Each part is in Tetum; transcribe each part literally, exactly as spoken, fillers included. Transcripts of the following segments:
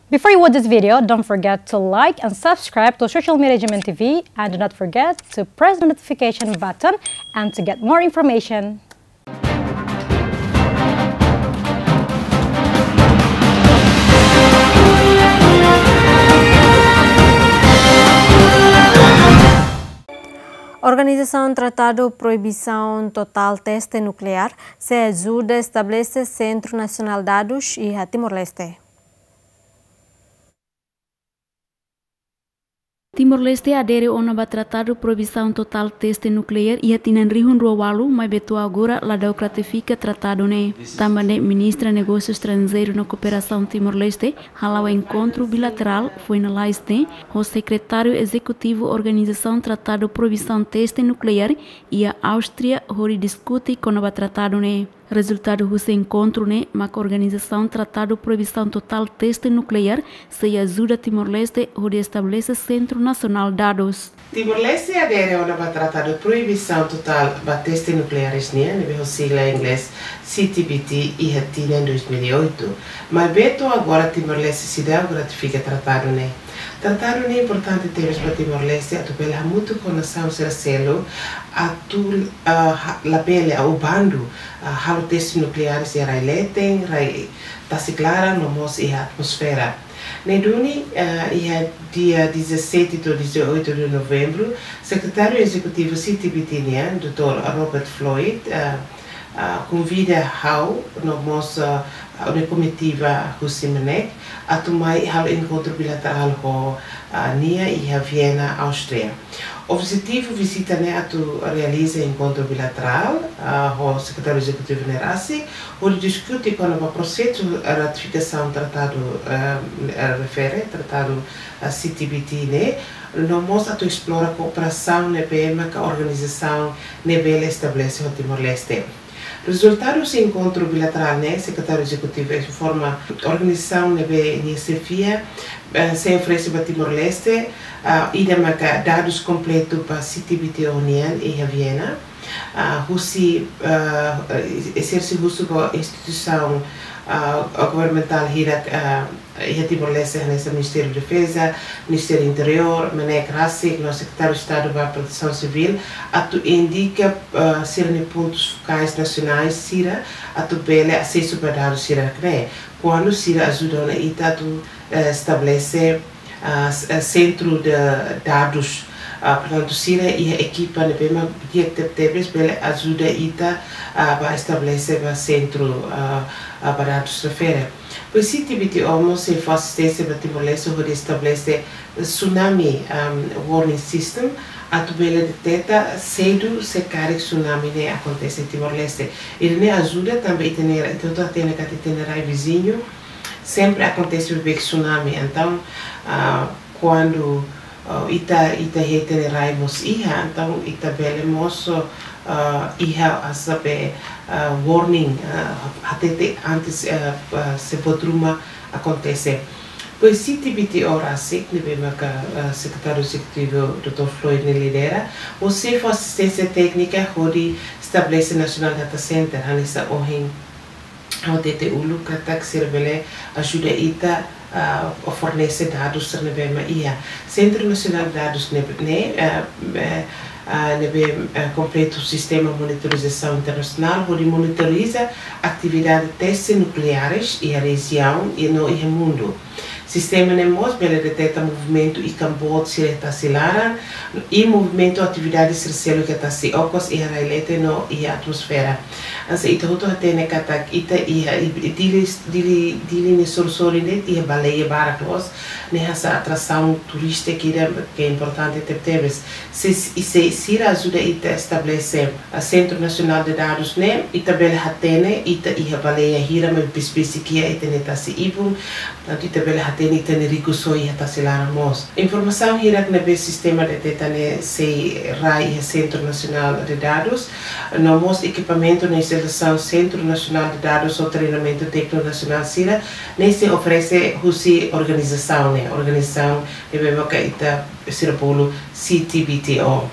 Before you watch this video, don't forget to like and subscribe to Social Media G M N T V, and do not forget to press the notification button and to get more information. Organizasaun Tratadu Proibisaun Totál Teste Nukleár sei ajuda estabelese Sentru Nasionál Dadus iha Timor-Leste. Timor-Leste adere ona ba Tratadu Proibisaun Totál Teste Nukleár iha tinan rihun rua ualu, maibé to'o agora ladauk ratifika tratadu ne'e. Tanba ne'e Ministra Negósiu Estranjeiru no Kooperasaun Timor-Leste hala'o enkontru bilaterál foin lalais ne'e ho Sekretáriu Ezekutivu Organizasaun Tratadu Proibisaun Teste Nukleár iha Áustria hodi diskute kona-ba tratadu ne'e. Rezultadu husi enkontru ne'e mak organizasaun Tratadu Proibisaun Totál Teste Nukleár sei ajuda Timor-Leste hodi estabelese Sentru Nasionál Dadus. Timor-Leste adere ona ba Tratadu Proibisaun Totál ba Teste Nukleáres nian, ne'ebé ho sigla inglés C T B T, iha tinan dois mil e oito. Maibé to'o agora Timor-Leste seidauk ratifika tratadu ne'e. Tratadu ne'e importante tebes ba Timor-Leste atu bele hamutuk ho nasaun sira seluk atu, ah, ha-, labele ou bandu, ah, halo teste nukleáres iha rai leten, rai tasi klaran, no mós iha atmosfera. Ne'e duni, ah, iha dia dezassete to'o dezoito de novembro, Sekretáriu Ezekutivu C T B T nian, doutór Robert Floyd, ah, ah, konvida ha'u no mós, ah, ha'u-nia komitiva husi MNEK atu mai halo enkontru bilaterál ho, ah, nia iha Viena, Áustria. Objetivu vizita ne'e atu realiza enkontru bilaterál, ah, ho Sekretáriu Ezekutivu ne'e rasik, hodi diskute kona-ba prosesu ratifikasaun tratadu, ah, refere, tratadu, ah, C T B T ne'e, no mós atu esplora kooperasaun ne'ebé maka organizasaun ne'e bele estabelese ho Timor-Leste. Rezultadu husi enkontru bilaterál ne'e, Sekretáriu Ezekutivu informa organizasaun ne'ebé nia xefia, eh, sei oferese ba Timor-Leste, ah, ida maka dadus kompletu ba C T B T O nian iha Viena, ah, husi, ah, eh, esersi husu ba instituisaun, ah, governamentál hirak, ah, iha Timor-Leste, hanesan Ministériu Defeza, Ministériu Interiór, MNEK rasik, no Sekretáriu Estadu ba Protesaun Sivíl, atu indika, ah, sira-nia pontus fokais nasionais sira, atu bele asesu ba dadus sira-ne'e. Kuandu sira ajuda ona ita atu, eh, estabelese, ah, s-, eh, sentru de dadus, ah, portantu, sira iha ekipa ne'ebé mak di'ak tebetebes bele ajuda ita, ah, ba estabelese ba sentru, ah, ah, ba dadus refere. Depois C T B T O mós sei fó asisténsia ba Timor-Leste hodi estabelese tsunami, um, warning system, atu bele deteta sedu se karik tsunami ne'e akontese Timor-Leste. Ida-ne'e ajuda tanba ita-nia, ita hotu hatene katak ita-nia rai viziñu sempre akontese beibeik tsunami. Entaun, ah, kuandu, ah, ita, ita iha ita-nia rai mós iha, entaun ita bele mós, ah, iha hanesan be, ah, warning, ah, hatete antes, ah, ah, se buat ruma akontese. Depois C T B T O rasik, ne'ebé maka, ah, Sekretáriu Ezekutivu doutór Floyd nia lidera, sei fó asisténsia téknika hodi estabelese National Data Center, hanesan ohin ha'u hatete uluk katak sira bele ajuda ita, ah, fornese dadus sira ne'ebé mak iha. Sentru Nasionál Dadus ne'e, ne'e, ah, eh, ah, ne'ebé, eh, kompleta sistema monitorizasaun internasionál, hodi monitoriza atividade teste nukleáres iha rejiaun i no iha mundu. Sistema ne'e mós bele deteta movimentu ikan boot sira iha tasi laran, i movimentu atividade sira seluk iha tasi okos, iha rai leten no iha atmosfera. Hanesan ita hotu hatene katak ita iha, i, i Dili, Dili, Dili nia sorin-sorin ne'e iha baleia barak loos, ne'e hanesan atrasaun turístika ida ke importante tebetebes. Se, i se sira ajuda ita estabelese, ah, Sentru Nasionál de Dadus ne'e, ita bele hatene ita iha baleia hira mak besik-besik iha ita-nia tasi ibun, tantu ita bele hatene ita-nia rikusoin iha tasi laran mós. Informasaun hirak ne'ebé sistema deteta ne'e sei rai iha Sentru Nasionál de Dadus, no mós ekipamentu no instalasaun Sentru Nasionál de Dadus ho treinamentu tékniku nasionál sira, ne'e sei oferese husi organizasaun ne'e, organizasaun ne'ebé maka ita sira bolu C T B T O.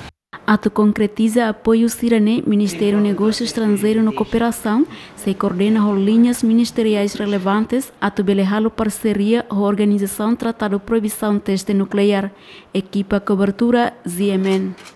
Atu konkretiza apoiu sira-ne'e, Ministériu Negósiu Estranjeiru no Kooperasaun sei koordena ho liñas ministeriais relevantes atu bele halo parseria ho organizasaun Tratadu Proibisaun Teste Nukleár. Ekipa kobertura, Z M N.